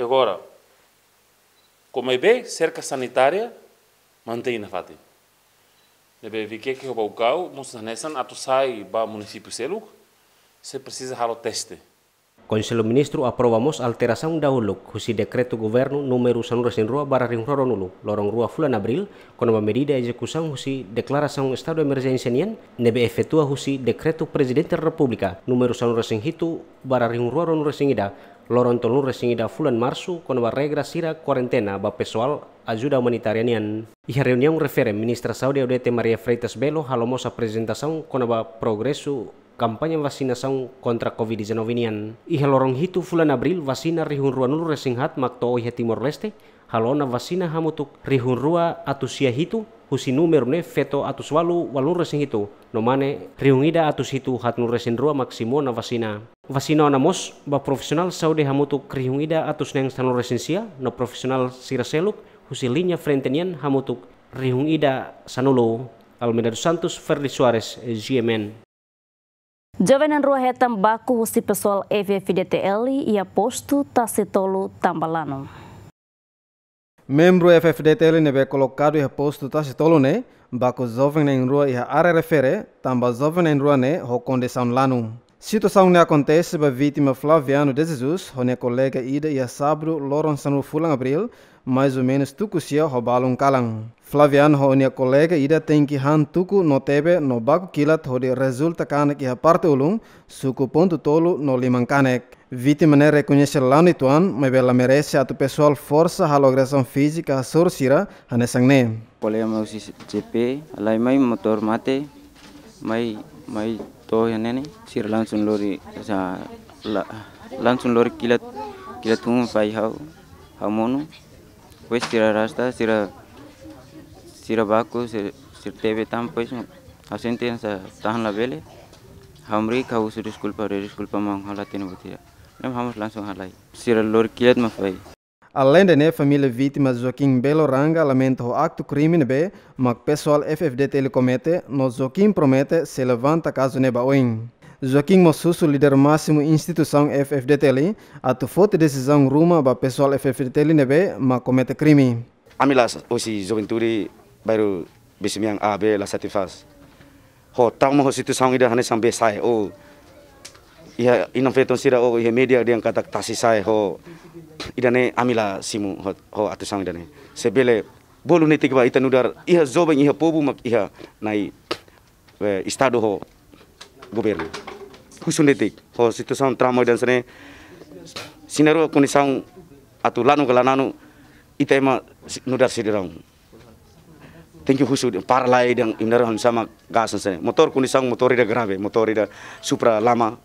Agora, kona-ba serka sanitária, mantein nafatin. Ne'ebé Viqueque ho Baucau mós hanesan atu sai ba munisípiu seluk, sei presiza halo teste. Konsellu Ministru aprova mós alterasaun dahuluk husi dekretu governu númeru sanulu-resin-rua barra rihun rua ruanulu, loron rua fulan Abríl, kona-ba medida ezekusaun husi deklarasaun estadu emerjénsia nian, ne'ebé efetua husi dekretu Prezidente Repúblika númeru sanulu-resin-hitu barra rihun rua ruanulu-resin-ida, loron tolunulu-resin-ida fulan Marsu, kona-ba regra sira kuarentena ba pesoál ajuda umanitária nian. Iha reuniaun refere, Ministra Saúde Odete Maria Freitas Belo halo mós aprezentasaun kona-ba progresu kampaña vasinasaun kontra covid dezanove nian. Iha loron hitu fulan Abríl, vasina rihun ruanulu-resin-haat mak to'o iha Timor-Leste, halo ona vasina hamutuk rihun rua atus sia hitu, husi númeru ne'e feto atus ualu ualunulu-resin-hitu, no mane rihun ida atus hitu haatnulu-resin-rua mak simu ona vasina. Vasina ona mós ba profisionál saúde hamutuk rihun ida atus neen sanulu-resin-sia, no profisionál sira seluk husi liña frente nian hamutuk rihun ida sanulu. Almeida dos Santos, Ferdi Soares, G M N. Joven na'in-rua hetan baku husi pesoál F F D T L iha postu Tasi Tolu, Tambalano. Membru F-FDTL ne'ebé kolokadu iha postu Tasi Tolu ne'e, baku joven na'in-rua iha área refere, tanba joven na'in-rua ne'e ho kondisaun lanu. Situasaun ne'e akontese ba vítima Flaviano de Jesus ho nia kolega ida iha sábadu loron sanulu fulan Abríl, mais ou menus tuku sia ho balun kalan. Flaviano ho nia kolega ida tenke han tuku no tebe no baku kilat hodi rezulta kanek iha parte ulun, suku pontu tolu no liman kanek. Vítima ne'e rekoñese lanu uitoan, maibé la merese atu pesoál forsa halo agresaun fízika hasoru sira hanesan ne'e. Kolega mai husi C P, halai mai motór mate, mai, mai to'o iha ne'e ne'e, sira langsung lori, sa, la, langsung lori kilat, kilat hun fai ha'u, ha'u monu. Depois sira rasta, sira, sira baku, sira, sira tebe tan, depois ha'u sente hanesan tahan labele. Ha'u hamriik, ha'u husu deskulpa, deskulpa maun, ha'u la hatene buat ida. Ne'e ha'u mós langsung halai. Sira lori kilat mak fai. Alende ne'e, família vítima Joaquim Belo Ranga lamenta ho aktu krime ne'ebé mak pesoál F-FDTL komete, no Joaquim promete sei levanta kazu ne'e ba oin. Joaquim mós husu líder másimu instituisaun F-FDTL atu foti desizaun ruma ba pesoál F-FDTL ne'ebé mak komete krime. Ami la, hosi juventude bairru Besimian A B la satisfás ho trauma ho situasaun ida hanesan be sa'e, o iha inan-feton sira, o iha média dehan katak tasi sa'e ho, ida-ne'e ami la simu ho, ho atuasaun ida-ne'e. Se bele bolu netik ba ita nu'udar iha joven, iha povu mak iha Na'i, eh, Estadu ho Governu. Husu netik ho situasaun trauma ida hanesan ne'e, se na'in-rua kondisaun atu lanu ka la nanu, ita ema si-, nu'udar sidadaun tenke husu, para lai dehan imi na'in-rua han sama gas hanesan ne'e. Motór kondisaun motór ida grave, motór ida Supra lama,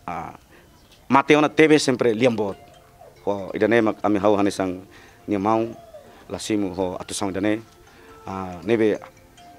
ah, mate ona tebe sempre lian boot. Ho ida-ne'e mak ami ha'u hanesan nia maun la simu ho atuasaun ida-ne'e. Ah, ne'ebé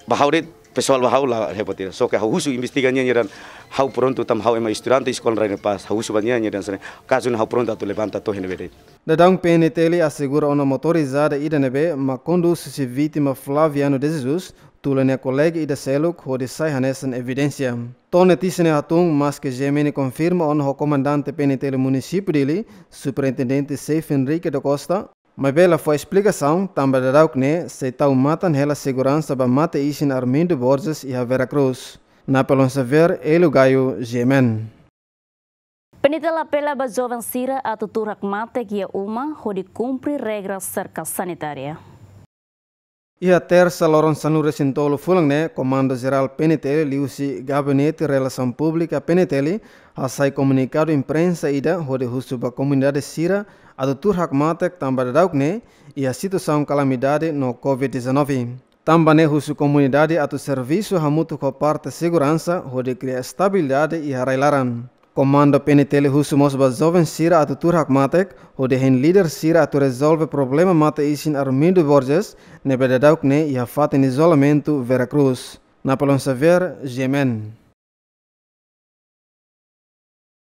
ba ha'u de'it, pesoál ba ha'u la hepatira. Só ke ha'u husu investiga nia, nia dehan ha'u prontu tanba ha'u ema estudante eskola Rainha da Paz, ha'u husu ba nia, nia dehan hanesan ne'e, kazu ne'e ha'u prontu atu levanta to'o iha ne'ebé de'it. Daudaun P N T L asegura ona motorizada ida ne'ebé mak kondús husi vítima Flaviano de Jesus, tula nia kolega ida seluk hodi sai hanesan evidénsia. To'o notísia ne'e hatún, maske G M N konfirma ona ho komandante P N T L munisípiu Dili, Superintendente Seif Henrique da Costa, maibé la fó esplikasaun tanba daudauk ne'e sei tau matan hela seguransa ba mate-isin Armindo Borges iha Vera Cruz. Napoleon Xavier, Hélio Gaio, G M N. P N T L apela ba joven sira atu tuur hakmatek iha uma hodi kumpre regra serka sanitária. Iha Tersa loron sanulu-resin-tolu fulan ne'e, Komandu Jerál P N T L liuhusi Gabinete Relasaun Públika P N T L hasai komunikadu imprensa ida hodi husu ba komunidade sira atu tuur hakmatek tanba daudauk ne'e iha situasaun kalamidade no covid dezanove. Tanba ne'e husu komunidade atu servisu hamutuk ho parte seguransa hodi kria estabilidade iha rai-laran. Komandu P N T L husu mós ba joven sira atu tuur hakmatek, hodi hein líder sira atu rezolve problema mate-isin Armindo Borges, ne'ebé daudauk ne'e iha fatin izolamentu Vera Cruz. Napoleon Xavier, G M N.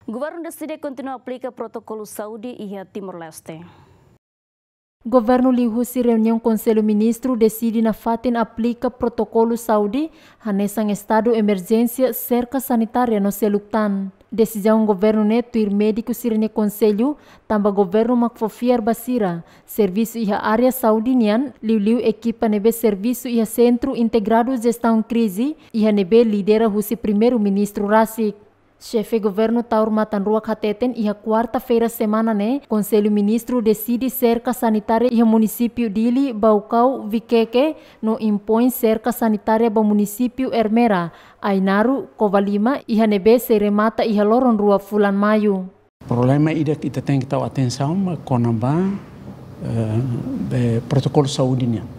Governu deside kontinua aplika protokolu saúde iha Timor-Leste. Governu liuhusi reuniaun Konsellu Ministru deside nafatin aplika protokolu saúde hanesan estadu emerjénsia, serka sanitária no seluk tan. Desizaun governu ne'e tuir médiku sira-nia konsellu, tanba governu mak fó fiar ba sira servisu iha área saúde nian, liuliu ekipa ne'ebé servisu iha Sentru Integradu Jestaun Krize, iha ne'ebé lidera husi Primeiru-Ministru rasik. Xefe Governu Taur Matan Ruak hateten iha kuarta-feira semana ne'e, Konsellu Ministru deside serka sanitária iha munisípiu Dili, Baucau, Viqueque, no impoin serka sanitária ba munisípiu Ermera, Ainaro, Covalima, iha ne'ebé sei remata iha loron rua fulan Maiu. Problema ida ke ita tenke tau atensaun mak kona-ba, eh, be protokolu saúde nian.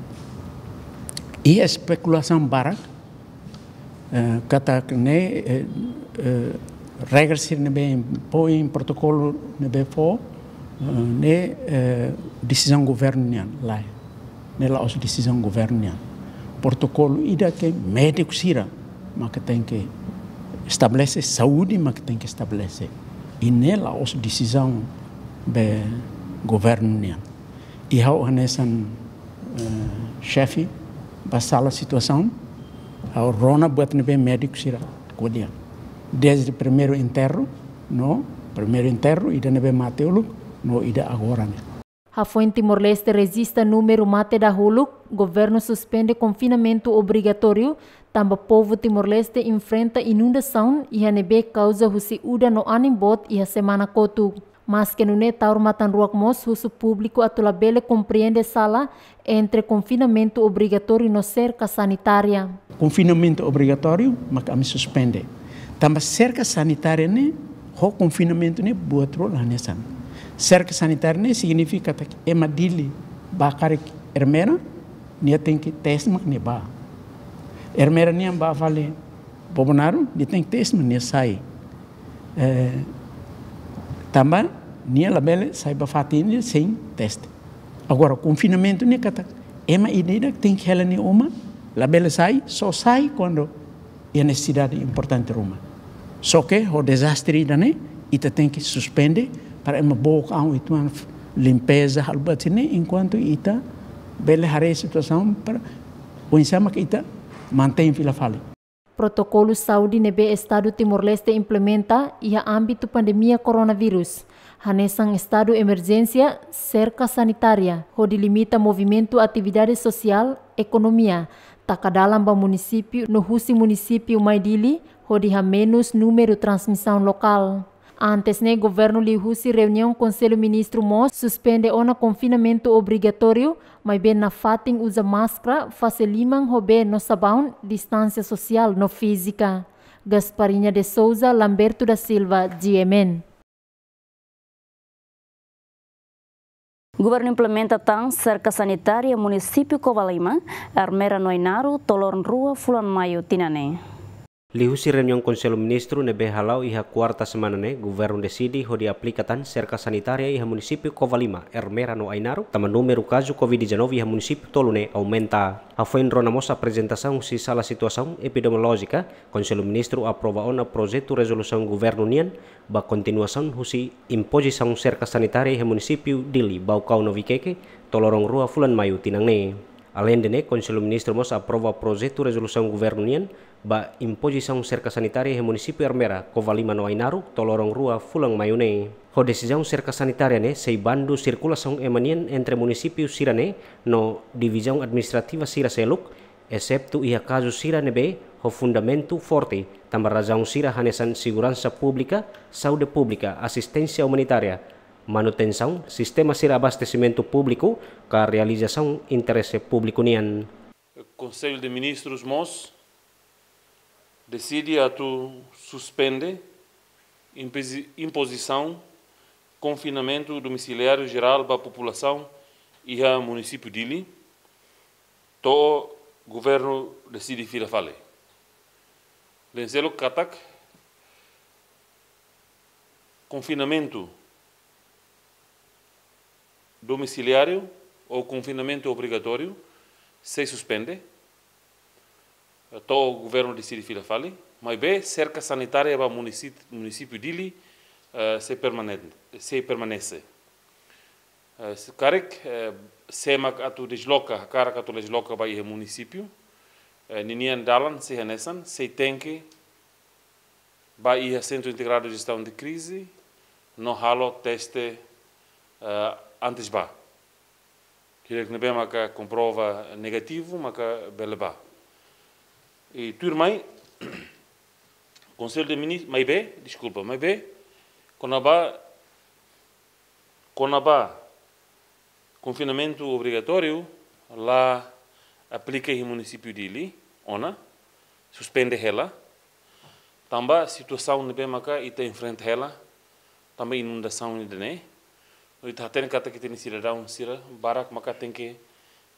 Iha espekulasaun barak, eh, katak ne'e, eh, eh, regra sira ne'ebé impoin, protokolu ne'ebé fó, eh, ne'e, eh, desizaun governu nian, lae. Ne'e la'ós desizaun governu nian. Protokolu ida ke médiku sira mak tenke estabelese, saúde mak tenke estabelese. I ne'e la'ós desizaun be governu nian. I ha'u hanesan, eh, xefe ba sala situasaun, ha'u rona buat ne'ebé médiku sira ko'alia. Dezde primeiru enterru, no, primeiru enterru, ida ne'ebé mate uluk, no ida agora ne'e. Hafoin Timor-Leste rejista númeru mate dahuluk, governu suspende konfinamentu obrigatóriu, tanba povu Timor-Leste enfrenta inundasaun iha ne'ebé kauza husi udan no anin boot iha semana kotuk. Maske nune'e, Taur Matan Ruak mós husu públiku atu labele komprende sala entre konfinamentu obrigatóriu no serka sanitária. Konfinamentu obrigatóriu mak ami suspende. Tanba serka sanitária ne'e ho konfinamentu ne'e buat rua la hanesan. Serka sanitária ne'e signifika katak ema Dili bá karik Ermera, nia tenke teste mak nia bá. Ermera nian bá fali Bobonaro, nia tenke teste mak nia sai. Eh, tanba nia labele sai ba fatin ne'e sein teste. Agora, konfinamentu ne'e katak ema ida-idak tenke hela nia uma, labele sai, só sai kuandu iha nesesidade importante ruma. Só ke ho dezastre ida-ne'e, ita tenke suspende para ema book an, ita limpeza, halo buat sira-ne'e, enkuantu ita bele haree situasaun para oinsá mak ita mantein fila fali. Protokolu saúde ne'ebé Estadu Timor-Leste implementa iha ámbitu pandemia koronavírus, hanesan estadu emerjénsia, serka sanitária, hodi limita movimentu atividade sosiál, ekonomia, taka dalan ba munisípiu no husi munisípiu mai Dili, hodi hamenus númeru transmisaun lokál. Antes ne'e, governu liuhusi reuniaun Konsellu Ministru mós suspende ona konfinamentu obrigatóriu, maibé nafatin uza máskara, fase liman ho bee no sabaun, distánsia sosiál no fízika. Gasparinha de Souza, Lamberto da Silva, G M N. Governu implementa tan serka sanitária munisípiu Covalima, Ermera no Ainaro, to'o loron rua fulan Maiu tinan ne'e. Liuhusi reuniaun Konsellu Ministru ne'ebé hala'o iha kuarta semana ne'e, governu deside hodi aplika tan serka sanitária iha munisípiu Covalima, Ermera no Ainaro, tanba númeru kazu covid dezanove iha munisípiu tolu ne'e aumenta. Hafoin rona mós aprezentasaun husi sala situasaun epidemiolójika, Konsellu Ministru aprova ona projetu rezolusaun governu nian ba kontinuasaun husi impozisaun serka sanitária iha munisípiu Dili, Baucau no Viqueque, to'o loron rua fulan Maiu tinan ne'e. Aleinde ne'e, Konsellu Ministru mós aprova projetu rezolusaun governu nian ba impozisaun serka sanitária iha munisípiu Ermera, Covalima no Ainaro, to'o loron rua fulan Maiu ne'e. Ho desizaun serka sanitária ne'e sei bandu sirkulasaun ema nian entre munisípiu sira-ne'e no divizaun administrativa sira seluk, eseptu iha kazu sira ne'ebé ho fundamentu forte, tanba razaun sira hanesan seguransa públika, saúde públika, asisténsia umanitária, manutensaun sistema sira abastesimentu públiku, ka realizasaun interese públiku nian. Konsellu de Ministrus mós deside atu suspende impozi-, impozisaun konfinamentu domisiliáriu jerál ba populasaun iha munisípiu Dili, to'o governu deside fila fali. Lenselo katak konfinamentu domisiliáriu ou konfinamentu obrigatóriu sei suspende, to'o governu deside fila fali, maibé serka sanitária ba munisí-, munisípiu Dili, eh, sei permanente, sei permanese. Eh, se karik, eh, sé mak atu desloka, hakarak atu desloka ba iha munisípiu, eh, ninian dalan sei hanesan, sei tenke ba iha Sentru Integradu Jestaun de Krize, no halo teste, eh, antes ba. Hirak ne'ebé maka komprova negativu, maka bele ba. I tuirmai, Konsellu de Minis-, maibé, deskulpa, maibé, kona-ba, kona-ba konfinamentu obrigatóriu la aplika iha munisípiu Dili, ona, suspende hela, tanba situasaun ne'ebé maka ita enfrenta hela, tanba inundasaun ida-ne'e. No ita hatene katak ita-nia sidadaun sira barak maka tenke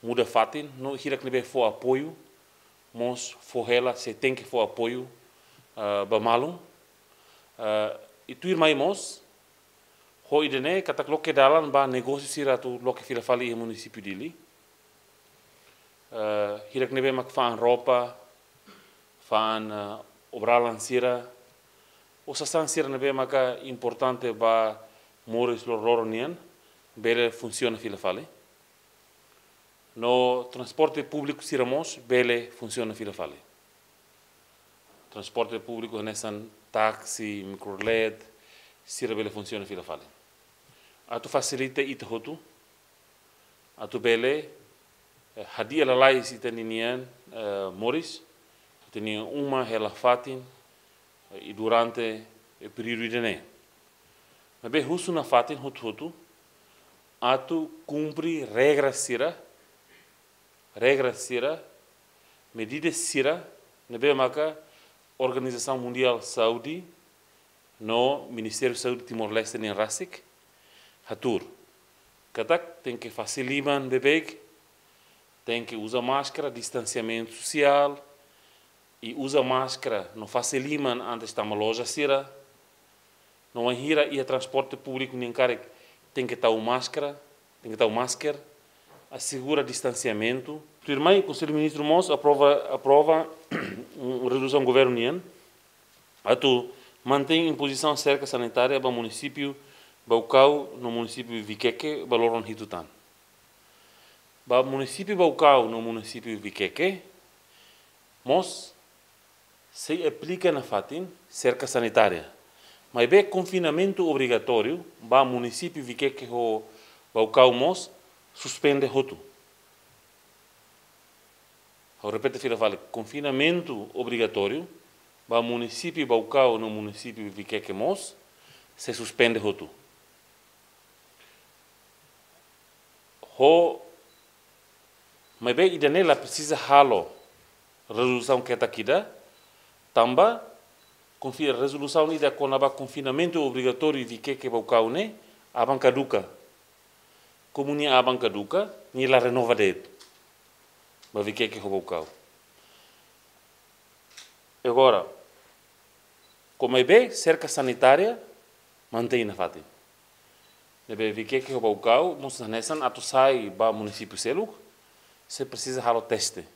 muda fatin, no hirak ne'ebé fó apoiu, mós fó hela, sei tenke fó apoiu, ah, ba malu. Ah, i tuirmai mós, ho ida-ne'e katak loke dalan ba negósiu sira atu loke fila fali iha munisípiu Dili. Eh, hirak ne'ebé mak fa'an roupa, fa'an, eh, obralan sira, ou sasán sira ne'ebé maka importante ba moris loroloron nian, bele funsiona fila fali. No transporte públiku sira mós bele funsiona fila fali. Transporte públiku hanesan táksi, mikrolet, sira bele funsiona fila fali. Atu fasilita ita hotu, atu bele, eh, hadi'a lalais ita-nia, eh, moris, ita-nia uma hela fatin, eh, i durante, eh, períodu ida-ne'e. Maibé husu nafatin hotu-hotu atu kumpre regra sira, regra sira, medida sira ne'ebé maka Organizasaun Mundiál Saúde no Ministériu Saúde Timor-Leste nian rasik hatuur. Katak tenke fase liman beibeik, tenke uza máskara, distansiamentu sosiál, i uza máskara no fase liman antes tama loja sira. No wainhira iha transporte públiku nian karik tenke tau máskara, tenke tau masker, asegura distansiamentu. Tuirmai, Konsellu Ministru mós aprova, aprova rezolusaun governu nian atu mantein impozisaun serka sanitária ba munisípiu Baucau no munisípiu Viqueque ba loron hitu tan. Ba munisípiu Baucau no munisípiu Viqueque mós sei aplika nafatin serka sanitária. Maibé konfinamentu obrigatóriu ba munisípiu Viqueque ho Baucau mós suspende hotu. Ha'u repete fila fali, konfinamentu obrigatóriu ba munisípiu Baucau no munisípiu Viqueque mós sei suspende hotu. Ho, maibé ida-ne'e la presiza halo rezolusaun ketak ida, tanba konfi-, rezolusaun ida kona-ba konfinamentu obrigatóriu Viqueque Baucau ne'e aban kaduka. Komu nia aban kaduka, nia la renova de'it ba Viqueque ho Baucau. Agora, komu maibé serka sanitária mantein nafatin. Ne'ebé Viqueque ho Baucau mós hanesan atu sai ba munisípiu seluk, sei presiza halo teste.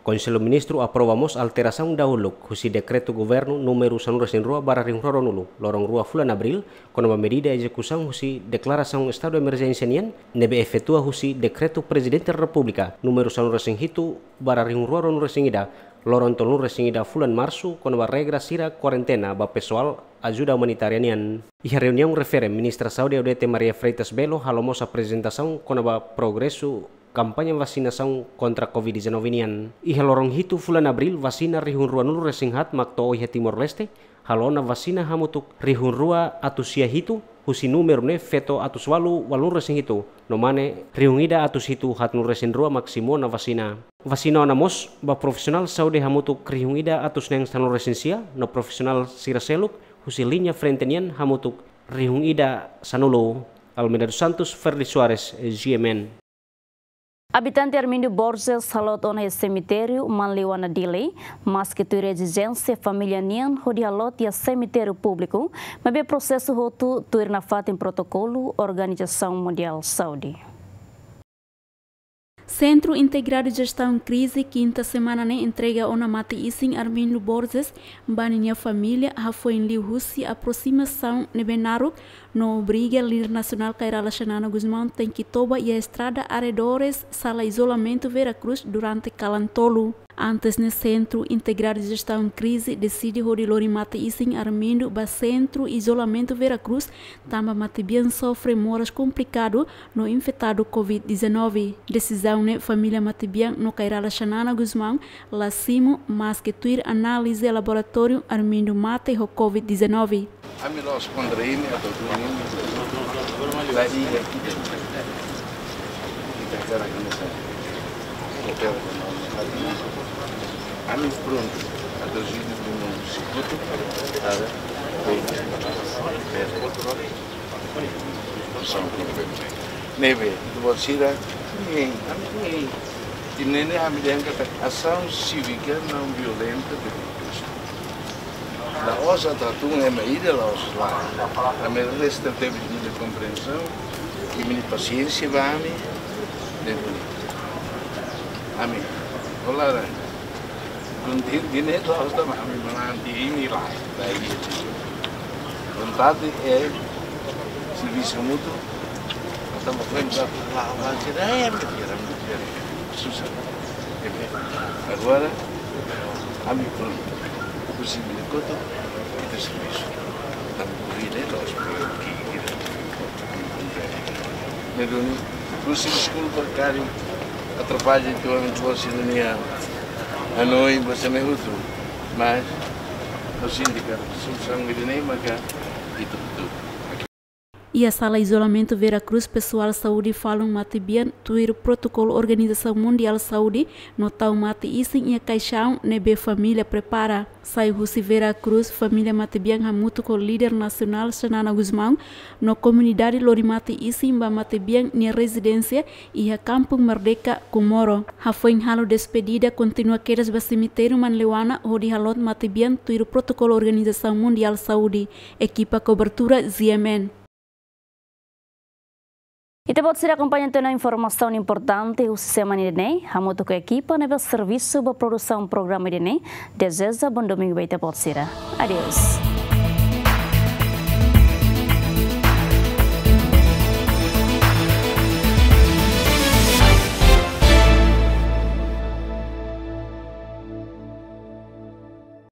Konsellu Ministru aprova mós alterasaun dahuluk husi dekretu governu númeru sanulu-resin-rua barra rihun rua ruanulu, loron rua fulan Abríl, kona-ba medida ezekusaun husi deklarasaun estadu emerjénsia nian, ne'ebé efetua husi dekretu Prezidente Repúblika númeru sanulu-resin-hitu barra rihun rua ruanulu-resin-ida, loron tolunulu-resin-ida fulan Marsu, kona-ba regra sira kuarentena ba pesoál ajuda umanitária nian. Iha reuniaun refere, Ministra Saúde Odete Maria Freitas Belo halo mós aprezentasaun kona-ba progresu kampaña vasinasaun kontra covid dezanove nian. Iha loron hitu fulan Abríl, vasina rihun ruanulu-resin-haat mak to'o iha Timor-Leste, halo ona vasina hamutuk rihun rua atus sia hitu, husi númeru ne'e feto atus ualu ualunulu-resin-hitu, no mane rihun ida atus hitu haatnulu-resin-rua mak simu ona vasina. Vasina ona mós ba profisionál saúde hamutuk rihun ida atus neen sanulu-resin-sia, no profisionál sira seluk husi liña frente nian hamutuk rihun ida sanulu. Almeida dos Santos, Ferdi Soares, G M N. Abitante Armindo Borges halot ona iha semitériu Manliwana Dili, maski tuir ezijénsia família nian hodi halot iha semitériu públiku, maibé prosesu hotu tuir nafatin protokolu Organizasaun Mundiál Saúde. Sentru Integradu Jestaun Krize, kinta semana ne'e entrega ona mate-isin Armindo Borges ba ninia família, hafoin liuhusi aprosimasaun ne'ebé naruk, no obriga líder nasionál Kay Rala Xanana Gusmão tenke toba iha estrada arredores sala izolamentu Vera Cruz durante kalan tolu. Antes ne'e, Sentru Integradu Jestaun Krize deside hodi lori mate-isin Armindo ba Sentru Izolamentu Vera Cruz, tanba matebian sofre moras komplikadu no infetadu covid dezanove. Desizaun ne'e família matebian no Kay Rala Xanana Gusmão la simu, maski tuir análize laboratóriu Armindo mate ho covid dezanove. Ami la'ós kontra imi, atu duni imi. Dai ida. Ita kara kena sa. Ita kara kena sa. Ami prontu. Atu duni imi. Sikutu. Ada. Ne'ebé, ita-boot sira, ne'e, ami ne'e. Ida-ne'e ami dehan katak asaun sívika não violenta de grupo. La'ós atu hatún ema ida, la'ós lae. Ami resta tebes imi-nia kompriensaun, imi-nia pasiénsia ba ami, ne'e bonita. Ami, olá, Kun di, di ne'e la'ós tanba ami manán di imi lae, lae. Vontade é servisu mútuu, atu mós vem dar lá, lá, que é, é, é, é, susar. Ne'ebé, agora, ami prontu, husi minutu, ita servisu. Tanba ku vida é la'ós, porque, que, que, ne'e duni, Husi deskulpa karik atrapalla ita-boot sira-nia hanoin ba sira hotu, mas ha'u sente katak solusaun ida-ne'e maka ita hotu. Iha sala izolamentu Vera Cruz, pesoál saúde falun matebian tuir protokolu Organizasaun Mundiál Saúde no tau mate-isin iha kaixaun ne'ebé família prepara. Sai husi Vera Cruz, família matebian hamutuk ho líder nasionál Xanana Gusmão no komunidade lori mate-isin ba matebian nia rezidénsia iha Kampung Merdeka, Comoro. Hafoin halo despedida, kontinua kedas ba semitériu Manleuana hodi halot matebian tuir protokolu Organizasaun Mundiál Saúde. Ekipa kobertura Z M N. Ita-boot sira akompaña tiha ona informasaun importante husi semana ida-ne'e, hamutuk ho ekipa ne'ebé servisu ba produsaun programa ida-ne'e, dezeja bom domingu ba ita-boot sira. Adeus.